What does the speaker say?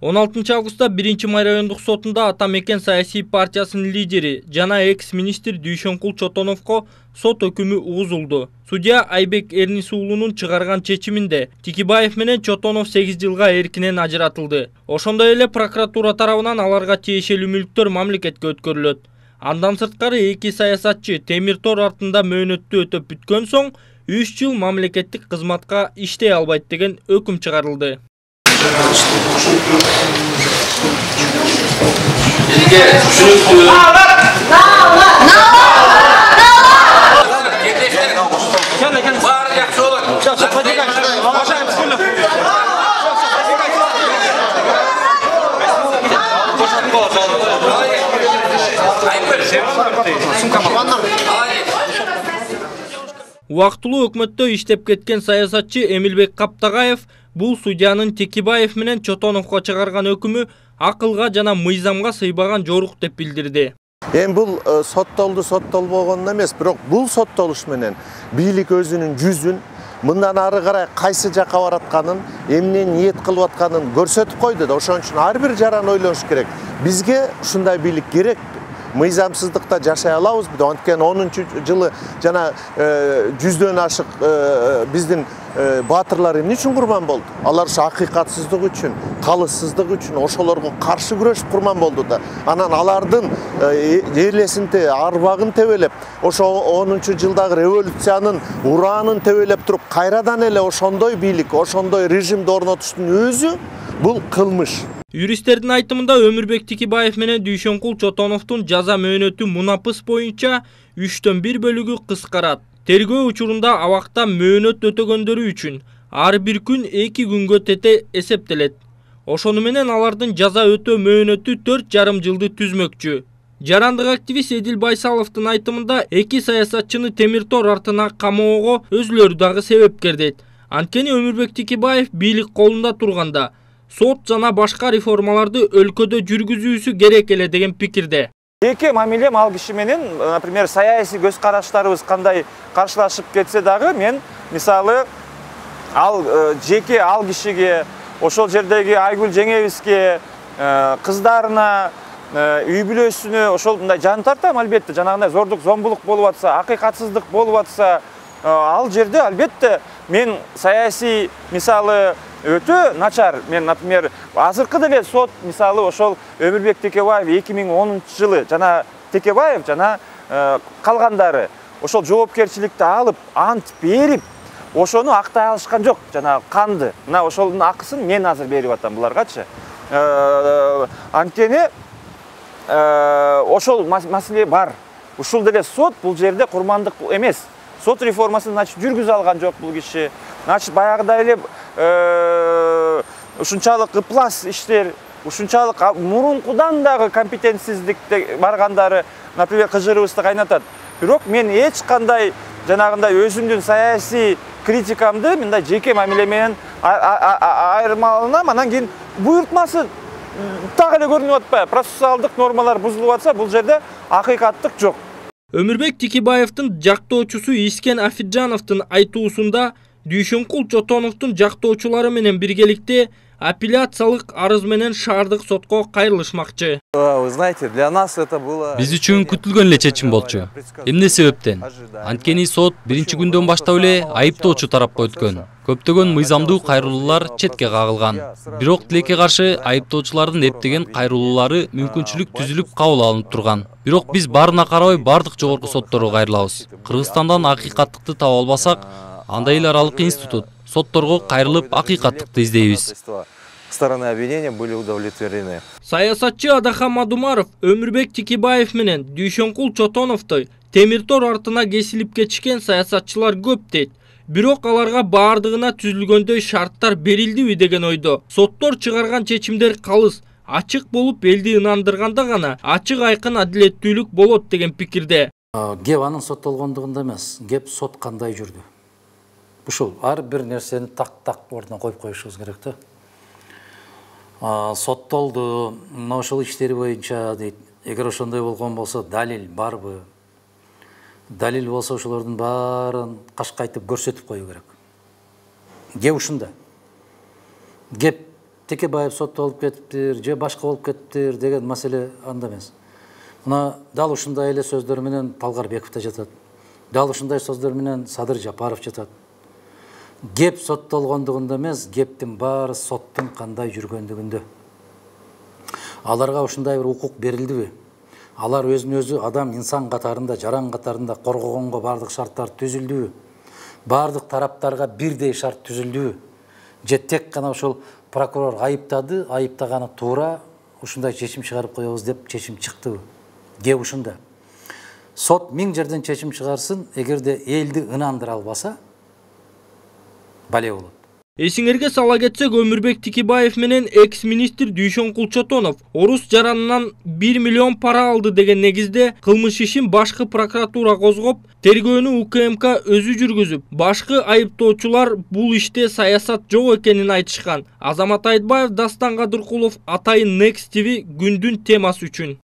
16 августта 1-Май райондук сотунда Ата Мекен саясий партиясынын лидери жана экс-министр Дүйшөнкул Чотоновго сот өкүмү угузулду. Судья Айбек Эрнис уулунун чыгарган чечиминде Тикибаев менен Чотонов 8 жылга эркинен ажыратылды. Ошондой эле прокуратура тарабынан аларга тиешелүү мүлктөр мамлекетке өткөрүлөт. Андан сырткары эки саясатчы темир тор артында мөөнөттү өтөп бүткөн соң 3 жыл мамлекеттик кызматка иштей албайт деген өкүм чыгарылды. Убактылуу өкмөттө иштеп кеткен саясатчы Эмилбек Каптагаев бул судьянын Текибаев менен Чотоновго чыгарган өкүмү акылга жана мыйзамга сыйбаган жорук деп билдирди. Бул соттолбогон эмес, бирок бул соттолуш менен бийлик өзүнүн жүзүн мындан ары карай кайсы жакка баратканын, эмне ниет кылып атканын көрсөтүп койду да. Ошон үчүн ар бир жаран ойлош керек. Бизге ушундай бийлик керек. Мыйзамсыздыкта жашай алабыз. Анткени 10-жылы жана 100дөн ашык биздин баатырлар эмне үчүн курман болду? Алар ушу акыйкатсыздык үчүн, калыссыздык үчүн ошолорго каршы күрөшүп курман болду да. Анан алардын эрлесин арбагын тебелеп, ошо 10-жылдагы революциянын ураанын тебелеп туруп, кайрадан эле ошондой бийлик, ошондой режимди орнотуштун өзү бул кылмыш. Юристтердин айтымында Өмүрбек Тикибаев менен Дүйшөнкул Чотоновдун жаза мөөнөтү мунапыс боюнча 3/1 бөлүгү кыскарат. Тергөө учурунда абакта мөөнөт өтөгөндөрү үчүн ар бир күн 2 күнгө тете эсептелет. Ошону менен алардын жаза өтөө мөөнөтү 4,5 жылды түзмөкчү. Жарандык активист Эдил Байсаловдун айтымында эки саясатчыны темир тор артына камоого өзүлөрү дагы себепкер дейт. Анткени Өмүрбек Тикибаев бийлик колунда турганда сот жана башка реформаларды өлкөдө жүргүзүүсү керек эле деген пикирде. Жеке мамилем ал киши менен, например, саясий көз караштарыбыз кандай каршылашып кетсе дагы, мен мисалы жеке ал кишиге, ошол жердеги Айгүл жеңебизге, кыздарына, үй бүлөсүнө ошол мындай жан тартам албетте. Жанагындай зордук, зомбулук болуп атса, акыйкатсыздык болуп атса, ал жерде албетте мен саясий мисалы өтө начар. Мен, например, азыркы деле сот мисалы ошол Өмүрбек Текебаев 2010-жылы жана Текебаев жана калгандары ошол жоопкерчиликти алып, ант берип, ошону актай алышкан жок. Жана канды. Мына ошолдун акысын мен азыр берип атам буларгачы. Анткени ошол маселе бар. Ушул деле сот бул жерде курмандык эмес. Сот реформасын значит жүргүзө алган жок бул киши. Значит баягыдай эле ушунчалык ыплас иштер, ушунчалык мурункудан дагы компетентсиздикте баргандары, например, кыжырыбызды кайнатат. Бирок мен эч кандай жанагындай өзүмдүн саясий критикамды мындай жеке мамиле менен айырмаланам. Анан кийин буйртмасы так эле көрүнүп атпайбы? Процессуалдык нормалар бузулуп атса, бул жерде акыйкаттык жок. Өмүрбек Тикибаевдин жактоочусу Искен Афиджановдун айтуусунда Дүйшөнкул Чотоновдун жактоочулары менен биргеликте апелляциялык арыз менен шаардык сотко кайрылышмакчы. Вы знаете, для нас это было... Биз үчүн күтүлгөн эле чечим болчу. Эмне себептен? Анткени сот биринчи күндөн баштап эле айыптоочу тарапка өткөн. Көптөгөн мыйзамдуу кайрылуулар четке кагылган. Бирок тилекке каршы айыптоочулардын эптеген кайрылуулары мүмкүнчүлүк түзүлүп кабыл алынып турган. Бирок биз баарына карабай бардык жогорку сотторго кайрылабыз. Кыргызстандан акыйкаттыкты таба албасак, анда эл аралык институт сотторго кайрылып акыйкаттыкты издейбиз. Стороны обвинения были удовлетворены. Саясатчы Адахан Мадумаров Өмүрбек Тикибаев менен Дүйшөнкул Чотоновдой темир тор артына кесилип кетишкен саясатчылар көп дейт. Бирок аларга баардыгына түзүлгөндөй шарттар берилдиби деген ойдо. Соттор чыгарган чечимдер калыс, ачык болуп элди ынандырганда гана ачык айкын адилеттүүлүк болот деген пикирде. Кеп анын соттолгондугунда эмес, кеп сот кандай жүрдү. Ушул ар бир нерсени так ордуна коюп коюшубуз керек да. Соттолду, мына ошол иштери боюнча дейт. Эгер ошондой болгон болсо, далил барбы? Далил болсо ошолордун баарын кашкайтып көрсөтүп коюу керек. Кеп ушунда. Кеп Текебаев соттолуп кетиптир же башка болуп кетиптир деген маселе анда эмес. Мына дал ушундай эле сөздөр менен Талгарбеков да жатат. Дал ушундай сөздөр менен Садыр Жапаров жатат. Кеп соттолгондугунда эмес, кептин баары соттун кандай жүргөндүгүндө. Аларга ушундай бир укук берилдиби? Алар өзүн өзү адам, инсан катарында, жаран катарында коргогонго бардык шарттар түзүлдүбү? Бардык тараптарга бирдей шарт түзүлдүбү? Же тек гана ошол прокурор айыптады, айыптаганы туура, ушундай чечим чыгарып коебуз деп чечим чыктыбы? Кеп ушунда. Сот 1000 жерден чечим чыгарсын, эгерде элди ынандыра албаса, бале болот. Эсиңерге сала кетсек, Өмүрбек Тикибаев менен экс-министр Дүйшөн Кулчотонов орус жаранынан 1 миллион пара алды деген негизде кылмыш ишин башкы прокуратура козгоп, тергөөнү УКМК өзү жүргүзүп, башкы айыптоочулар бул иште саясат жок экенин айтышкан. Азамат Айтбаев, Дастан Кадыркулов, Атайын Next TV күндүн темасы үчүн.